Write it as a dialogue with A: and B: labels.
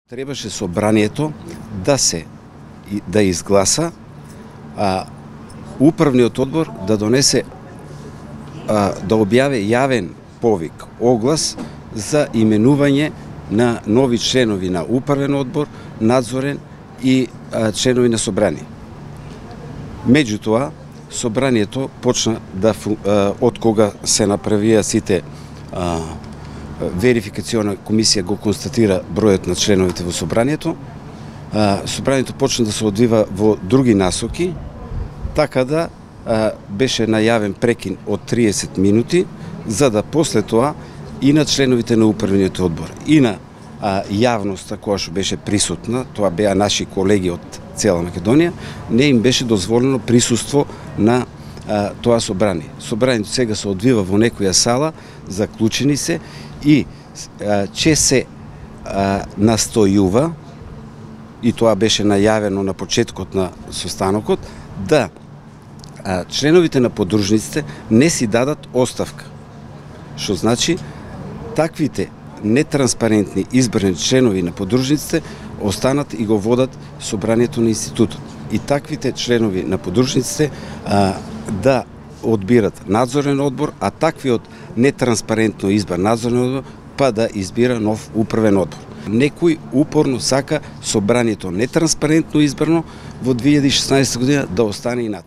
A: Требаше собранието да изгласа, управниот одбор да донесе, да објави јавен повик, оглас за именување на нови членови на управен одбор, надзорен и членови на собрание. Меѓутоа, собранието почна да од кога се направија сите верификациона комисија го констатира бројот на членовите во собранието, собранието почна да се одвива во други насоки, така да беше најавен прекин од 30 минути, за да после тоа и на членовите на управниот одбор, и на јавноста која што беше присутна, тоа беа наши колеги од цела Македонија, не им беше дозволено присуство на тоа собрание. Собранието сега се одвива во некоја сала, заклучени се и че се настојува, и тоа беше најавено на почетокот на состанокот, да членовите на подружниците не си дадат оставка. Што значи, таквите нетранспарентни избрани членови на подружниците останат и го водат собранието на институтот. И таквите членови на подружниците да одбират надзорен одбор, а таквиот нетранспарентно избар надзорен одбор па да избира нов управен одбор. Некој упорно сака собранието нетранспарентно избрано во 2016 година да остане инат.